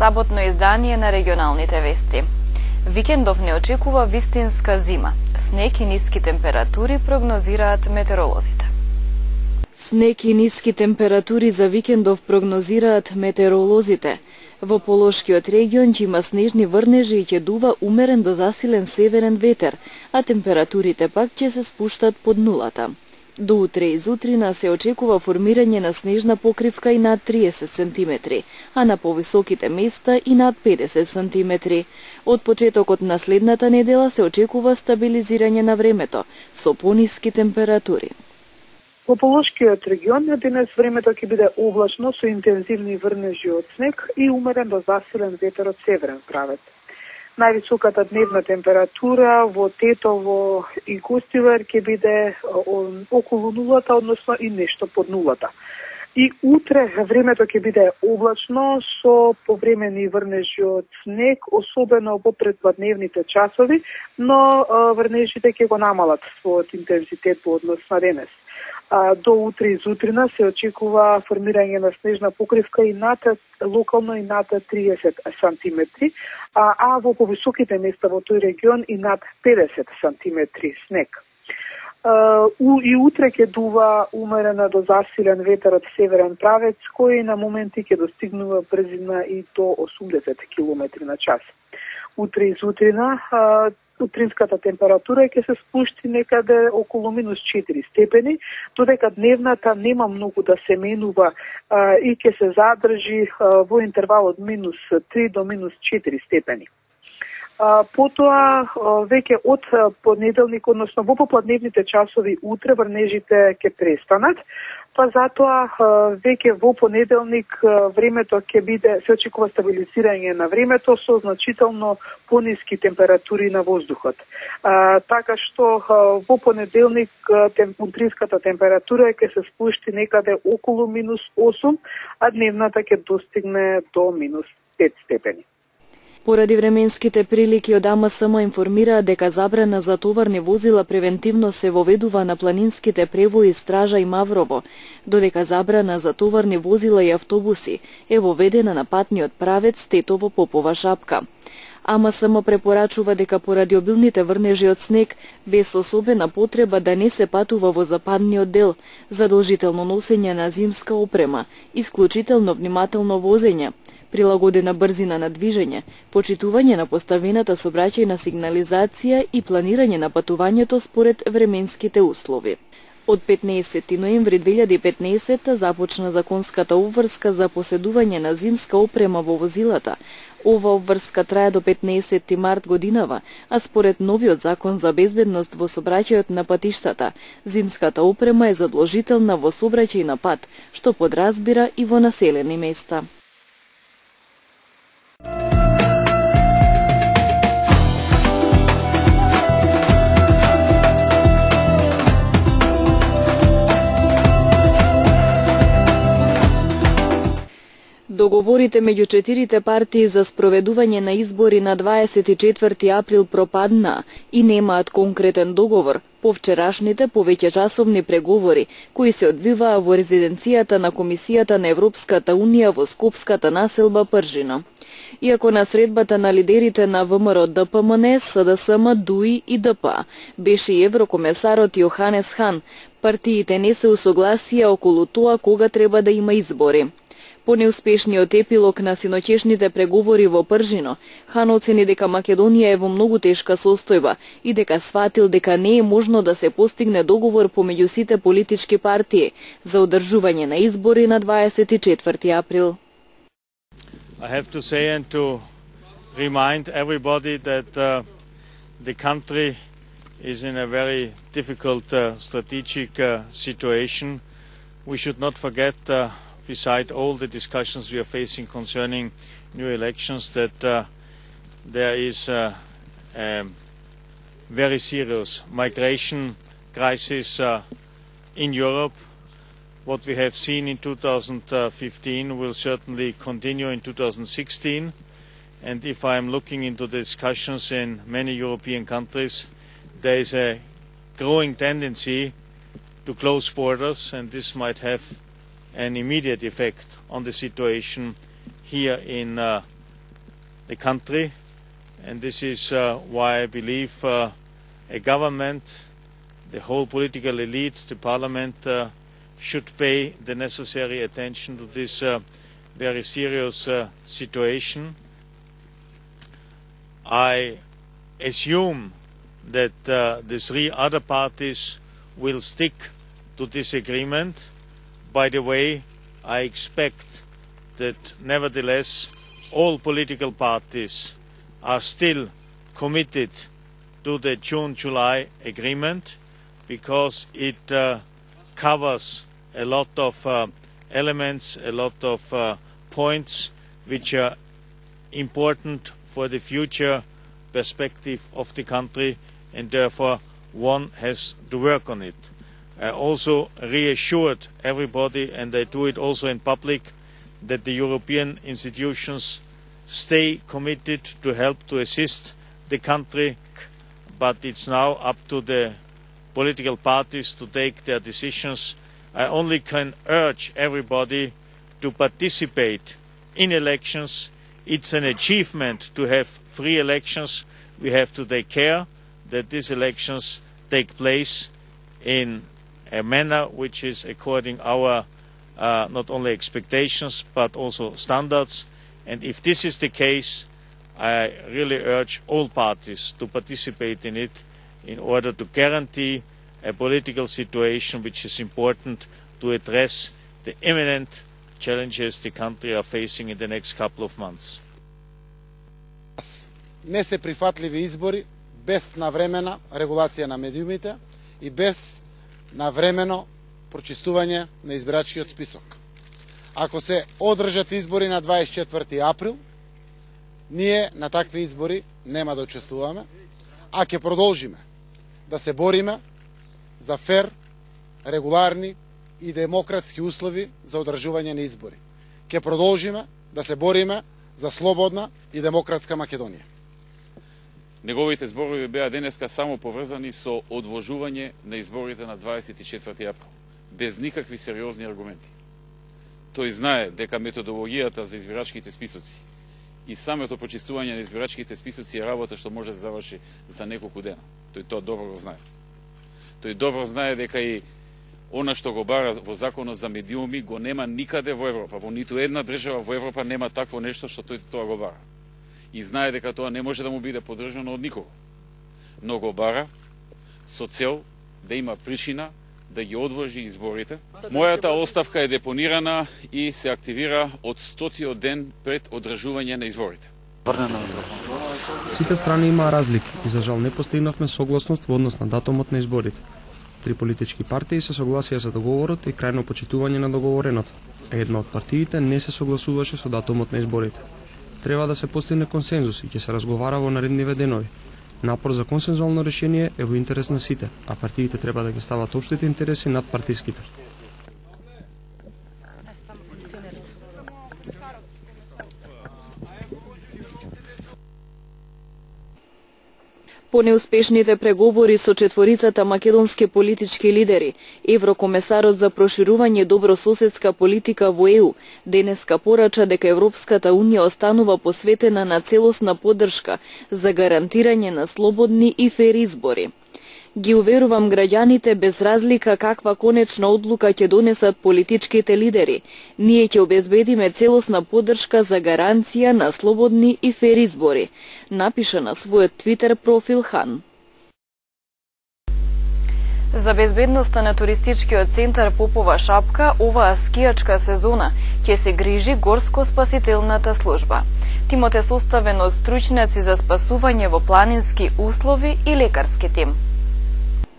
саботно издание на регионалните вести. Викендов не очекува вистинска зима. Снег и ниски температури прогнозираат метеоролозите. Снег и ниски температури за викендов прогнозираат метеоролозите. Во Полошкиот регион ќе има снежни врнежи и ќе дува умерен до засилен северен ветер, а температурите пак ќе се спуштат под нулата. До утре изутрина се очекува формирање на снежна покривка и над 30 см, а на повисоките места и над 50 см. Од почетокот на следната недела се очекува стабилизирање на времето, со пониски температури. Во Полошкиот регион денес времето ќе биде облачно со интензивни врнежи од снег и умерен до засилен ветер од северен правец. Највисоката дневна температура во Тетово и Гостивар ќе биде околу нулата, односно и нешто под нулата. И утре времето ќе биде облачно со повремени врнежи од снег, особено во предпладневните часови, но врнежите ќе го намалат својот интензитет во однос на денес. До утре изутрина се очекува формирање на снежна покривка и локално и над 30 см, а во повисоките места во тој регион и над 50 см снег. И утре ќе дува умерена до засилен ветер од северен правец, кој на моменти ќе достигнува брзина и до 80 км на час. Утре изутрина утринската температура ќе се спушти некаде околу минус 4 степени, додека дневната нема многу да се менува и ќе се задржи во интервал од минус 3 до минус 4 степени. Потоа, веќе од понеделник, односно во попладневните часови утре врнежите ќе престанат, па затоа веќе во понеделник времето ќе биде, се очекува стабилизирање на времето со значително пониски температури на воздухот. Така што во понеделник утринската температура ќе се спушти некаде околу минус 8, а дневната ќе достигне до минус 5 степени. Поради временските прилики од АМСМ информираа дека забрана за товарни возила превентивно се воведува на планинските превои Стража и Маврово, додека забрана за товарни возила и автобуси е воведена на патниот правец Тетово-Попова Шапка. АМСМ препорачува дека поради обилните врнежи од снег, без особена потреба да не се патува во западниот дел, задолжително носење на зимска опрема, исклучително внимателно возење, прилагодена брзина на движење, почитување на поставената сообраќајна сигнализација и планирање на патувањето според временските услови. Од 15 ноември 2015 започна законската обврска за поседување на зимска опрема во возилата. Ова обврска трае до 15 март годинава, а според новиот закон за безбедност во сообраќајот на патиштата, зимската опрема е задолжителна во сообраќај на пат, што подразбира и во населени места. Договорите меѓу четирите партии за спроведување на избори на 24 април пропадна и немаат конкретен договор по вчерашните повеќечасовни преговори кои се одвиваа во резиденцијата на Комисијата на Европската Унија во Скопската населба Пржино. Иако на средбата на лидерите на ВМРО, ДПМН, СДСМ, ДУИ и ДПА беше и еврокомесарот Јоханес Хан, партиите не се усогласија околу тоа кога треба да има избори. По неуспешниот епилог на синоќешните преговори во Пржино, Хан оцени дека Македонија е во многу тешка состојба и дека сватил дека не е можно да се постигне договор помеѓу сите политички партии за одржување на избори на 24 април. I have to say and to remind everybody that the country is in a very difficult strategic situation. We should not forget beside all the discussions we are facing concerning new elections, that there is a very serious migration crisis in Europe. What we have seen in 2015 will certainly continue in 2016. And if I am looking into the discussions in many European countries, there is a growing tendency to close borders, and this might have an immediate effect on the situation here in the country, and this is why I believe a government, the whole political elite, the parliament should pay the necessary attention to this very serious situation. I assume that the three other parties will stick to this agreement. By the way, I expect that nevertheless all political parties are still committed to the June-July agreement because it covers a lot of elements, a lot of points which are important for the future perspective of the country, and therefore one has to work on it. I also reassured everybody, and I do it also in public, that the European institutions stay committed to help to assist the country, but it's now up to the political parties to take their decisions. I only can urge everybody to participate in elections. It's an achievement to have free elections. We have to take care that these elections take place in a manner which is according our not only expectations but also standards. And if this is the case, I really urge all parties to participate in it in order to guarantee a political situation which is important to address the imminent challenges the country are facing in the next couple of months. Не се прифатливи избори без навремена регулација на медиумите и без навремено прочистување на избирачкиот список. Ако се одржат избори на 24 април, ние на такви избори нема да учествуваме, а ќе продолжиме да се бориме за фер, регуларни и демократски услови за одржување на избори. Ќе продолжиме да се бориме за слободна и демократска Македонија. Неговите зборови беа денеска само поврзани со одложување на изборите на 24 април, без никакви сериозни аргументи. Тој знае дека методологијата за избирачките списоци и самото почистување на избирачките списоци е работа што може да заврши за неколку дена. Тој тоа добро го знае. Тој добро знае дека и она што го бара во законот за медиуми го нема никаде во Европа. Во ниту една држава во Европа нема такво нешто што тој тоа го бара. И знае дека тоа не може да му биде поддржано од никого. Но го бара со цел да има причина да ги одложи изборите. Мојата оставка е депонирана и се активира од 100-тиот ден пред одржување на изборите. Сите страни имаа разлики и за жал не постигнавме согласност во однос на датумот на изборите. Три политички партии се согласија за договорот и крајно почитување на договореното, а една од партиите не се согласуваше со датумот на изборите. Треба да се постигне консензус и ќе се разговара во наредниве денови. Напор за консензуално решение е во интерес на сите, а партиите треба да ги стават општите интереси над партиските. По неуспешните преговори со четворицата македонски политички лидери, еврокомесарот за проширување добрососедска политика во ЕУ денеска порача дека Европската унија останува посветена на целосна поддршка за гарантирање на слободни и фер избори. Ги уверувам граѓаните без разлика каква конечна одлука ќе донесат политичките лидери. Ние ќе обезбедиме целосна поддршка за гаранција на слободни и фер избори, напиша на својот Твитер профил Хан. За безбедноста на туристичкиот центар Попова шапка, оваа скијачка сезона ќе се грижи горско-спасителната служба. Тимот е составен од стручњаци за спасување во планински услови и лекарски тим.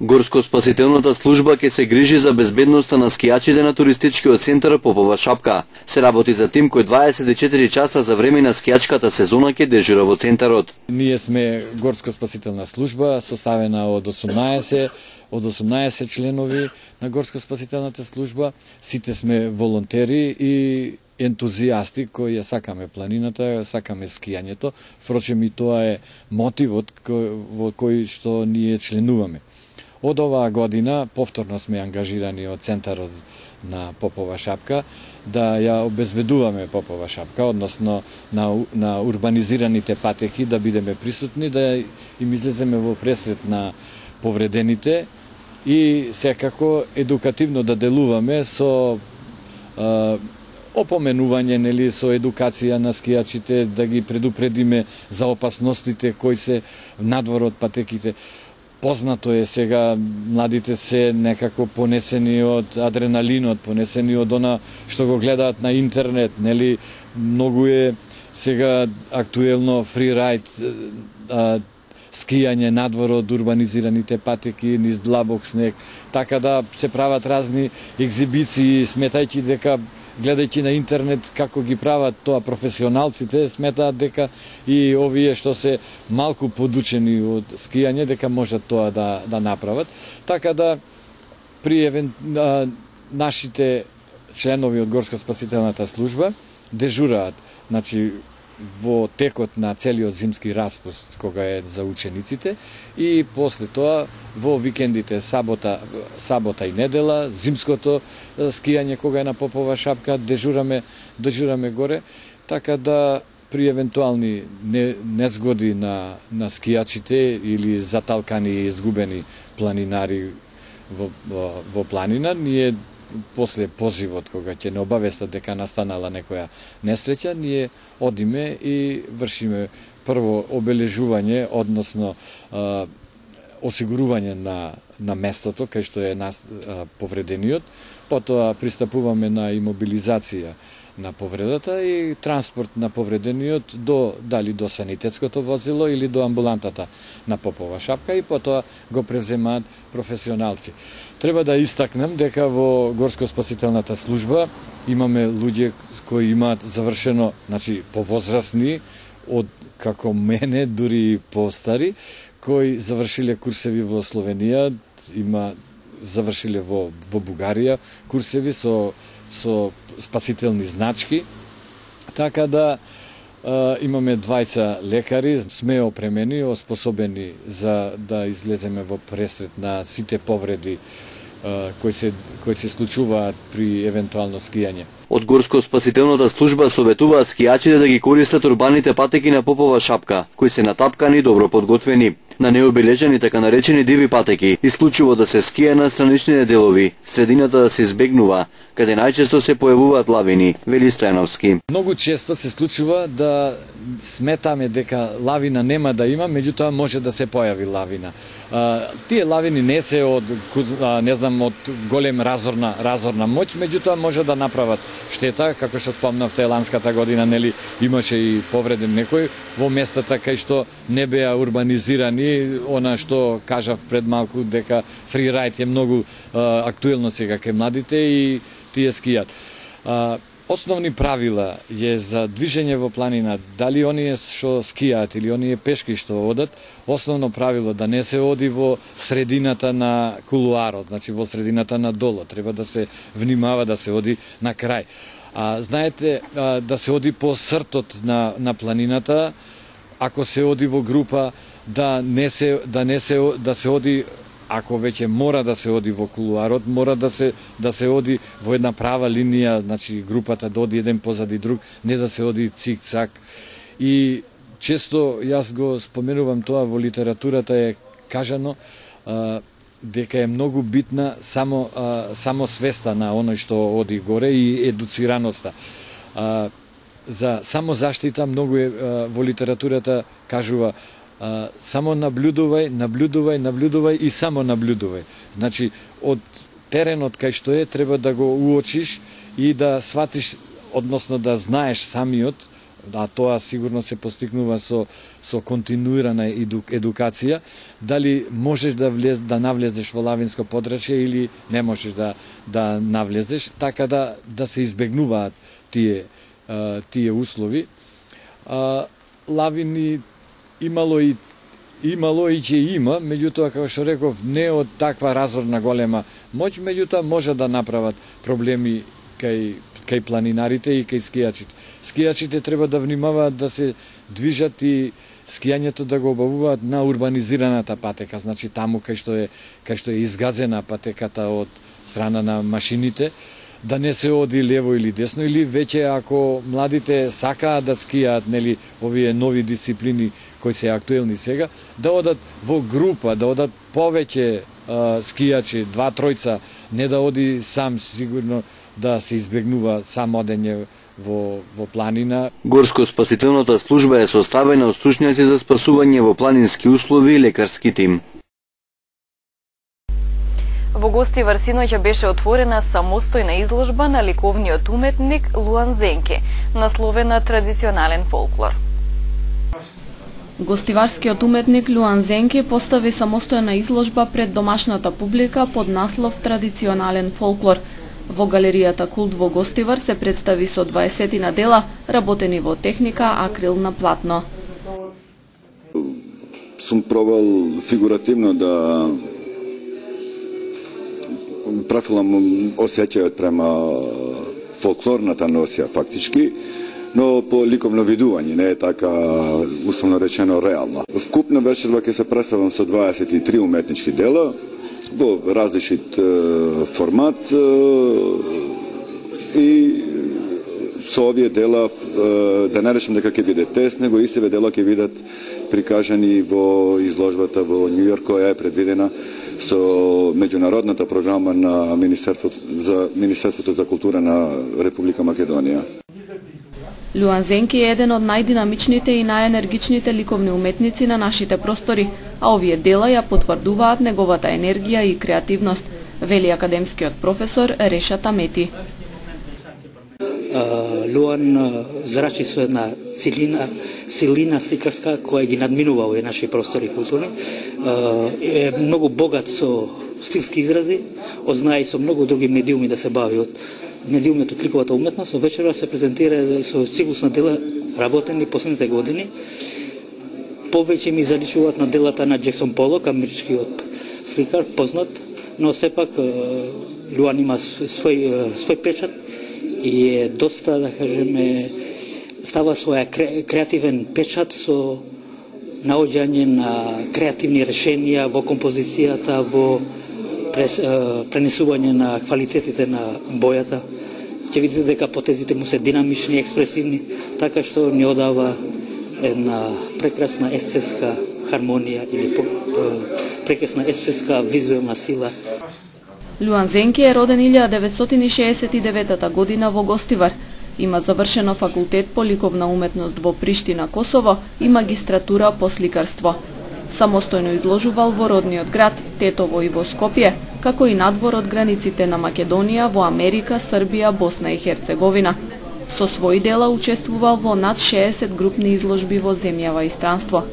Горско-спасителната служба ќе се грижи за безбедноста на скијачите на туристичкиот центар Попова шапка. Се работи за тим кој 24 часа за време на скијачката сезона ќе дежура во центарот. Ние сме горско-спасителна служба составена од 18 членови на горско-спасителната служба. Сите сме волонтери и ентузијасти кои ја сакаме планината, сакаме скијањето. Впрочем и тоа е мотивот во кој што ние членуваме. Од оваа година повторно сме ангажирани од центарот на Попова шапка да ја обезбедуваме Попова шапка, односно на урбанизираните патеки да бидеме присутни, да им излеземе во пресрет на повредените и секако едукативно да делуваме со опоменување, нели, со едукација на скијачите, да ги предупредиме за опасностите кои се надвор од патеките. Познато е сега, младите се некако понесени од адреналинот, понесени од она што го гледаат на интернет, нели, многу е сега актуелно фрирајд, скијање надвор од урбанизираните патеки, низ длабок снег, така да се прават разни екзибиции, сметајќи дека гледајќи на интернет како ги прават тоа професионалците, сметаат дека и овие што се малку подучени од скијање, дека можат тоа да направат. Така да при нашите членови од Горско-спасителната служба дежураат, значи, во текот на целиот зимски распуст, кога е за учениците, и после тоа во викендите, сабота и недела, зимското скијање кога е на Попова шапка, дежураме горе, така да при евентуални незгоди на скијачите или заталкани и изгубени планинари во планина, ние после позивот, кога ќе не обавестат дека настанала некоја несреќа, ние одиме и вршиме прво обележување, односно осигурување на местото кај што е повредениот, потоа пристапуваме на имобилизација на повредата и транспорт на повредениот дали до санитетското возило или до амбулантата на Попова шапка и потоа го превземаат професионалци. Треба да истакнем дека во Горско-спасителната служба имаме луѓе кои имаат завршено, значи повозрасни, од како мене, дури и постари, кои завршиле курсеви во Словенија, завршиле во Бугарија курсеви со спасителни значки, така да имаме двајца лекари, сме опремени, оспособени за да излеземе во пресрет на сите повреди кои се случуваат при евентуално скијање. Од Горско-спасителната служба советуваат скијачите да ги користат урбаните патеки на Попова шапка, кои се натапкани и добро подготвени. На необележени така наречени диви патеки, исклучиво да се скија на страничните делови, средината да се избегнува, каде најчесто се појавуваат лавини, вели Стојановски. Многу често се случува да сметаме дека лавина нема да има, меѓутоа може да се појави лавина. Тие лавини не се од од голем разорна моќ, меѓутоа може да направат штета, како што спомнавте ланската година, нели, имаше и повреден некој во местата кај што не беа урбанизирани, она што кажав пред малку дека фрирајд е многу актуелно сега кај младите и тие скијат. Основни правила е за движење во планина, дали оние што скијаат или оние пешки што одат, основно правило да не се оди во средината на кулуарот, значи во средината на доло, треба да се внимава да се оди на крај. Знаете, да се оди по сртот на планината, ако се оди во група, да се оди, ако веќе мора да се оди во кулуарот, мора да се оди во една права линија, значи групата да оди еден позади друг, не да се оди цик-цак. И често јас го споменувам тоа, во литературата е кажано дека е многу битна само свеста на оној што оди горе и едуцираноста. За самозаштита многу е во литературата кажува само наблюдувај и само наблюдувај. Значи, од теренот кај што е, треба да го уочиш и да сватиш, односно да знаеш самиот, а тоа сигурно се постигнува со континуирана едукација, дали можеш да навлезеш во лавинско подрачје или не можеш да навлезеш, така да се избегнуваат тие услови. Лавини имало и ќе има, меѓутоа, како што реков, не од таква разорна голема моќ, меѓутоа може да направат проблеми кај планинарите и кај скијачите. Скијачите треба да внимаваат да се движат и скијањето да го обавуваат на урбанизираната патека, значи таму кај што е изгазена патеката од страна на машините, да не се оди лево или десно, или веќе ако младите сакаат да скијаат, нели, овие нови дисциплини кои се актуелни сега, да одат во група, да одат повеќе скијачи, 2-3, не да оди сам, сигурно да се избегнува сам одење во планина. Горско-спасителната служба е составена од стручњаци за спасување во планински услови и лекарски тим. Во Гостивар синоќа беше отворена самостојна изложба на ликовниот уметник Луан Зенке, насловена Традиционален фолклор. Гостиварскиот уметник Луан Зенке постави самостојна изложба пред домашната публика под наслов Традиционален фолклор. Во галеријата Култ во Гостивар се представи со 20 дела, работени во техника акрил на платно. Сум пробал фигуративно да профилам осеќајот према фолклорната носија фактички, но по ликовно видување, не е така условно речено реално. Вкупна вечерва ќе се представам со 23 уметнички дела во различит формат и со овие дела, да не речем дека ќе биде тест, него истиве дела ќе бидат прикажани во изложбата во Њу Јорк, која е предвидена со меѓународната програма на Министерството за култура на Република Македонија. Луан Зенке е еден од најдинамичните и најенергичните ликовни уметници на нашите простори, а овие дела ја потврдуваат неговата енергија и креативност, вели академскиот професор Реша Тамети. Луан зрачи со една силина сликарска која ги надминува овие наши простори културни. Е многу богат со стилски изрази, знае и со многу други медиуми да се бави од медиумот од ликовата уметност. Вечерва се презентира со циклус на дела работени последните години. Повеќе ми заличуваат на делата на Джексон Полок, америчкиот сликар, познат, но сепак Луан има свој печат и е доста, да кажеме, става своја креативен печат со наоѓање на креативни решенија во композицијата, во пренесување на квалитетите на бојата. Ќе видите дека потезите му се динамични, експресивни, така што ни одава една прекрасна естетска хармонија или прекрасна естетска визуелна сила. Луан Зенке е роден 1969 година во Гостивар. Има завршено факултет по ликовна уметност во Приштина, Косово и магистратура по сликарство. Самостојно изложувал во родниот град, Тетово и во Скопје, како и надвор од границите на Македонија, во Америка, Србија, Босна и Херцеговина. Со своји дела учествувал во над 60 групни изложби во земјава и странство.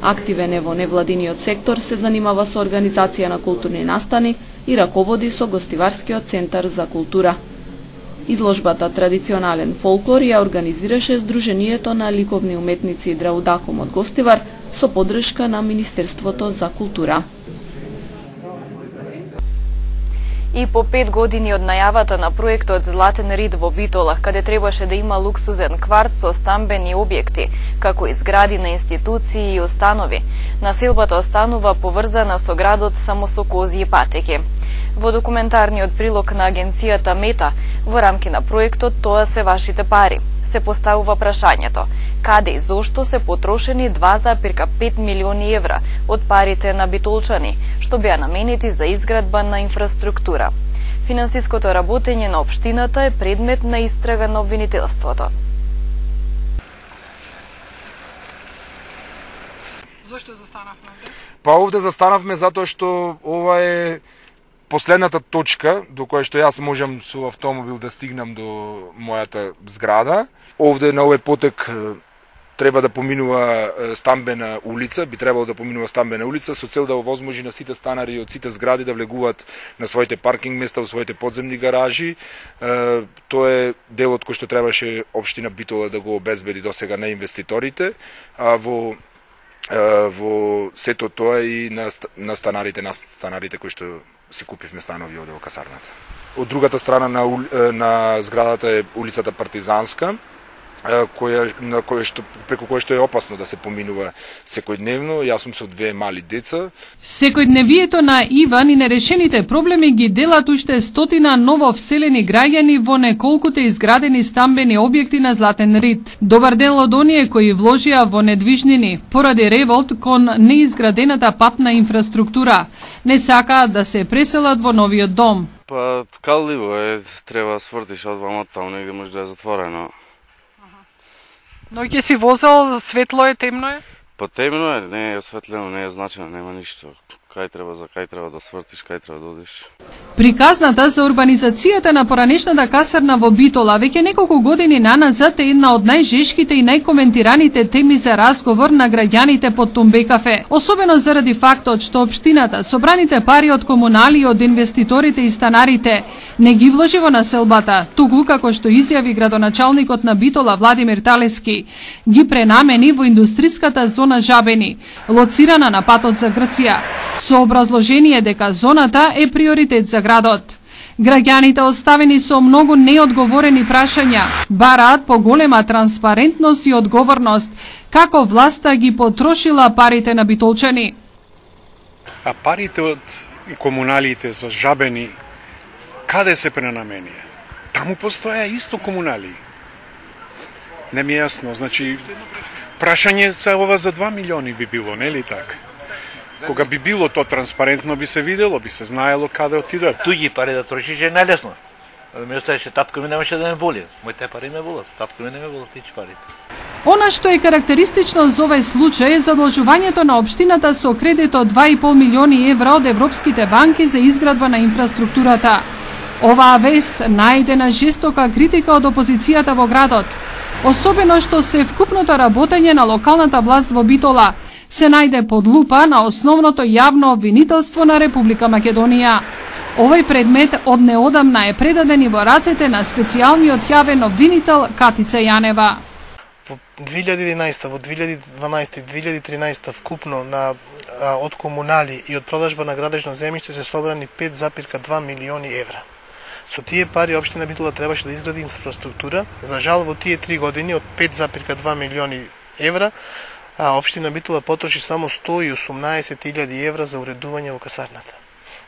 Активен е во невладиниот сектор, се занимава со организација на културни настани и раководи со Гостиварскиот центар за култура. Изложбата Традиционален фолклор ја организираше Сдруженијето на ликовни уметници Драудаком од Гостивар со поддршка на Министерството за култура. И по 5 години од најавата на проектот Златен рид во Битола, каде требаше да има луксузен кварт со стамбени објекти, како и згради на институции и установи, населбата останува поврзана со градот само со кози и патеки. Во документарниот прилог на агенцијата Мета, во рамки на проектот "Тоа се вашите пари", се поставува прашањето: каде и зошто се потрошени 2,5 милиони евра од парите на битолчани, што беа наменети за изградба на инфраструктура. Финансиското работење на општината е предмет на истрага на обвинителството. Зошто застанавме овде? Па овде застанавме затоа што ова е последната точка до која што јас можам со автомобил да стигнам до мојата зграда. Овде на овој потек треба да поминува стамбена улица, би требало да поминува стамбена улица со цел да овозможи на сите станари од сите згради да влегуваат на своите паркинг места, во своите подземни гаражи. Тоа е делот кој што требаше општина Битола да го обезбеди досега на инвеститорите, а во сето тоа и на станарите кои што си купивме станови овде во касарната. Од другата страна на зградата е улицата Партизанска, преку која што е опасно да се поминува секојдневно. Јас сум со две мали деца. Секојдневието на Иван и нерешените проблеми ги делат уште стотина нововселени граѓани во неколкуте изградени стамбени објекти на Златен Рид. Добар дел од оние кои вложија во недвижнини поради револт кон неизградената патна инфраструктура. Не сакаат да се преселат во новиот дом. Па калливо е, треба свртиш од вамот, таму негде може да е затворено. Но ќе си возел, светло е, темно е? Па темно е, не е осветлено, не е значено, нема ништо. Кај треба да свртиш, кај треба да одиш. Приказната за урбанизацијата на поранешната касарна во Битола веќе неколку години наназад е една од најжешките и најкоментираните теми за разговор на граѓаните под Тумбе кафе. Особено заради фактот што општината собраните пари од комунали и од инвеститорите и станарите не ги вложи во населбата, туку како што изјави градоначалникот на Битола Владимир Талески, ги пренамени во индустриската зона Жабени, лоцирана на патот за Грција, со образложение дека зоната е приоритет за градот. Граѓаните оставени со многу неодговорени прашања бараат поголема транспарентност и одговорност како власта ги потрошила парите на битолчани. А парите од комуналите за Жабени каде се пренамени? Таму постоја исто комунали. Не ми е јасно, значи прашање за ова за 2 милиони би било, нели така? Кога би било то транспарентно, би се видело, би се знаело каде отидат. Туѓи пари да трошиш е најлесно. Ми оставаше, татко ми немаше да ме боли. Моите пари ме болат, татко ми не ме болат тие парите. Она што е карактеристично за овој случај е задолжувањето на општината со кредит од 2,5 милиони евра од европските банки за изградба на инфраструктурата. Оваа вест најде на жестока критика од опозицијата во градот, особено што се вкупното работење на локалната власт во Битола се најде под лупа на основното јавно обвинителство на Република Македонија. Овој предмет од неодамна е предаден и во рацете на специјалниот јавен обвинител Катица Јанева. Во 2011, во 2012 и 2013 вкупно од комунали и од продажба на градежно земјиште се собрани 5,2 милиони евра. Со тие пари општина Битола требаше да изгради инфраструктура. За жал во тие 3 години од 5,2 милиони евра општина Битола потроши само 118.000 евра за уредување во касарната.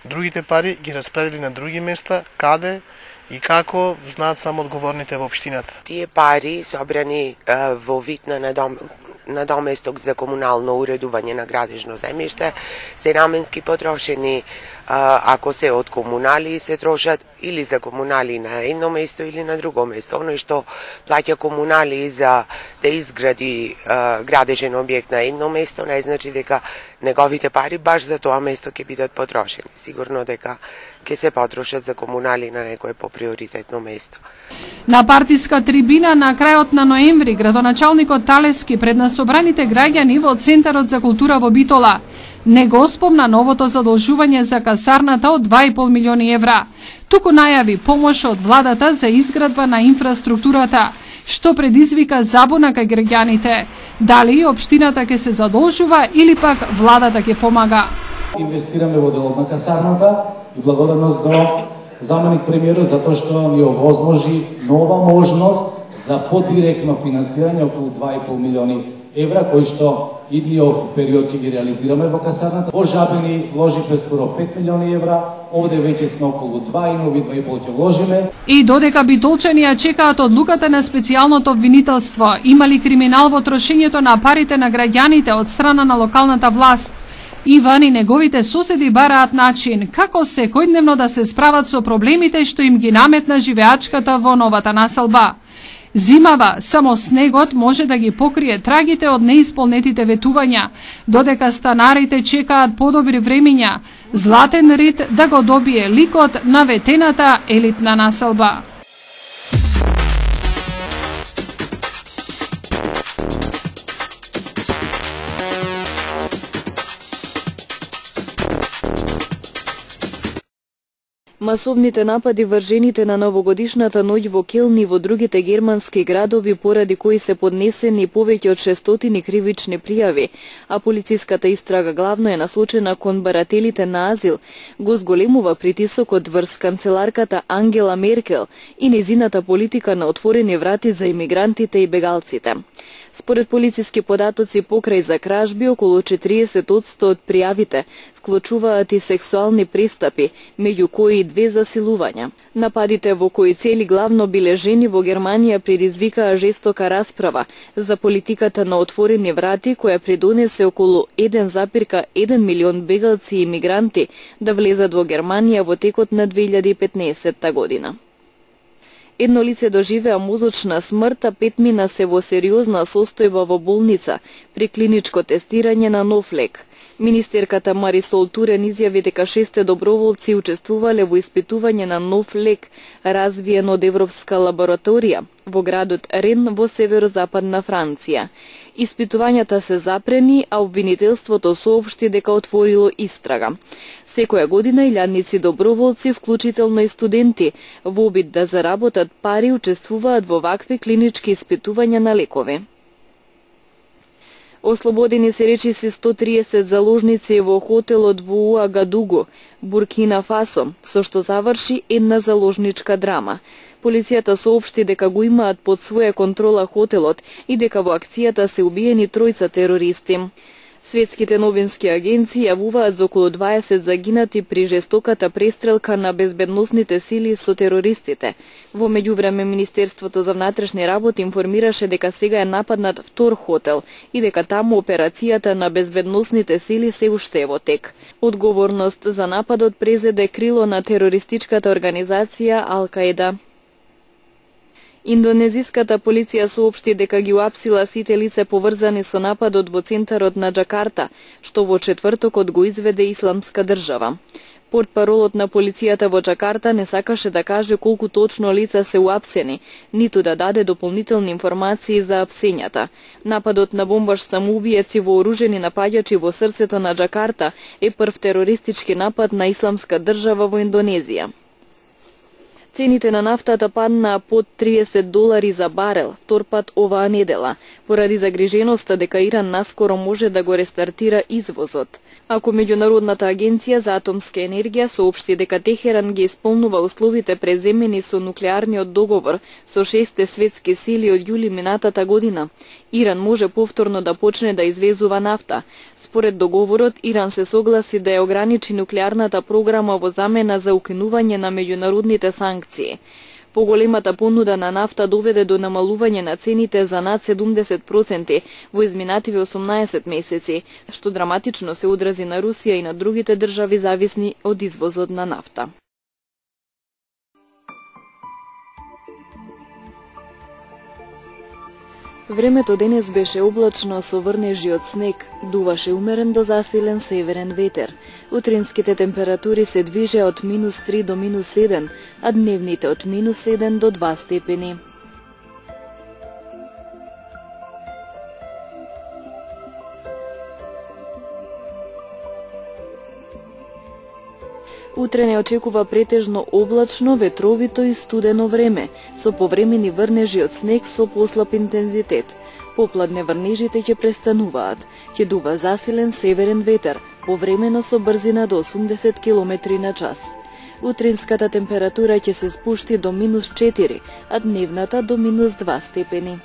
Другите пари ги распредели на други места, каде и како знаат само одговорните во општината. Тие пари собрани во вид на надоместок за комунално уредување на градежно земјиште се наменски потрошени, ако се од комунали се трошат или за комунали на едно место или на друго место. Оно што плаќа комунали за да изгради градежен објект на едно место не значи дека неговите пари баш за тоа место ќе бидат потрошени. Сигурно дека ќе се потрошат за комунали на некое поприоритетно место. На партиска трибина на крајот на ноември градоначалникот Талески пред насобраните граѓани во Центарот за култура во Битола не го спомна новото задолжување за касарната од 2,5 милиони евра, туку најави помош од владата за изградба на инфраструктурата, што предизвика забуна кај граѓаните. Дали општината ќе се задолжува или пак владата ќе помага? Инвестираме во делот на касарната и благодарност до заменик премиерот за тоа што ни овозможи нова можност за подиректно финансирање околу 2,5 милиони евра, кои што идниот период ќе ги реализираме во касарната. Во Жабени вложивме скоро 5 милиони евра, овде веќе сме околу 2 и нови 2,5 ќе вложиме. И додека битолчани ја чекаат одлуката на специјалното обвинителство, има ли криминал во трошењето на парите на граѓаните од страна на локалната власт? Иван и неговите соседи бараат начин како секојдневно да се справат со проблемите што им ги наметна живеачката во новата населба. Зимава, само снегот може да ги покрие трагите од неисполнетите ветувања, додека станарите чекаат подобри времиња, Златен Рид да го добие ликот на ветената елитна населба. Масовните напади вржените на новогодишната ноќ во Келн и во другите германски градови, поради кои се поднесени повеќе од 600 кривични пријави, а полициската истрага главно е насочена кон барателите на азил, го зголемува притисокот врз канцеларката Ангела Меркел и нејзината политика на отворени врати за имигрантите и бегалците. Според полициски податоци, покрај за кражби, околу 40% од пријавите вклучуваат и сексуални пристапи, меѓу кои и 2 засилувања. Нападите, во кои цели главно биле жени во Германија, предизвикаа жестока расправа за политиката на отворени врати, која придонесе околу 1,1 милион бегалци и имигранти да влезат во Германија во текот на 2015 година. Едно лице доживеа мозочна смрт, а 5 мина се во сериозна состојба во болница при клиничко тестирање на нов лек. Министерката Марисол Турен изјави дека 6 доброволци учествувале во испитување на нов лек, развиен од Европска лабораторија во градот Рен во северозападна Франција. Испитувањата се запрени, а обвинителството соопшти дека отворило истрага. Секоја година илјадници доброволци, вклучително и студенти, во обид да заработат пари, учествуваат во вакви клинички испитувања на лекови. Ослободени се речиси 130 заложници во хотелот во Уагадугу, Буркина Фасо, со што заврши една заложничка драма. Полицијата соопшти дека го имаат под своја контрола хотелот и дека во акцијата се убиени 3 терористи. Светските новински агенции јавуваат за околу 20 загинати при жестоката престрелка на безбедносните сили со терористите. Во меѓувреме, Министерството за внатрешни работи информираше дека сега е нападнат втор хотел и дека таму операцијата на безбедносните сили се уште е во тек. Одговорност за нападот презеде крило на терористичката организација Ал-Каеда. Индонезиската полиција соопшти дека ги уапсила сите лица поврзани со нападот во центарот на Џакарта, што во четвртокот го изведе Исламска држава. Портпаролот на полицијата во Џакарта не сакаше да каже колку точно лица се уапсени, ниту да даде дополнителни информации за апсењата. Нападот на бомбаш самоубиец и вооружени напаѓачи во срцето на Џакарта е прв терористички напад на Исламска држава во Индонезија. Цените на нафтата паднаа под $30 за барел, втор пат оваа недела, поради загриженоста дека Иран наскоро може да го рестартира извозот. Ако Меѓународната агенција за атомска енергија соопшти дека Техеран ги исполнува условите преземени со нуклеарниот договор со 6 светски сили од јули минатата година, Иран може повторно да почне да извезува нафта. Според договорот, Иран се согласи да ја ограничи нуклеарната програма во замена за укинување на меѓународните санкции. Поголемата понуда на нафта доведе до намалување на цените за над 70% во изминативе 18 месеци, што драматично се одрази на Русија и на другите држави зависни од извозот на нафта. Времето денес беше облачно со врнежи од снег, дуваше умерен до засилен северен ветер. Утринските температури се движеа од -3 до -7, а дневните од -1 до 2 степени. Утре не очекува претежно облачно, ветровито и студено време, со повремени врнежи од снег со послаб интензитет. Попладне врнежите ќе престануваат. Ќе дува засилен северен ветер, повремено со брзина до 80 км на час. Утринската температура ќе се спушти до -4, а дневната до -2 степени.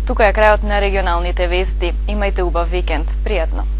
Тука е крајот на регионалните вести. Имајте убав викенд. Пријатно!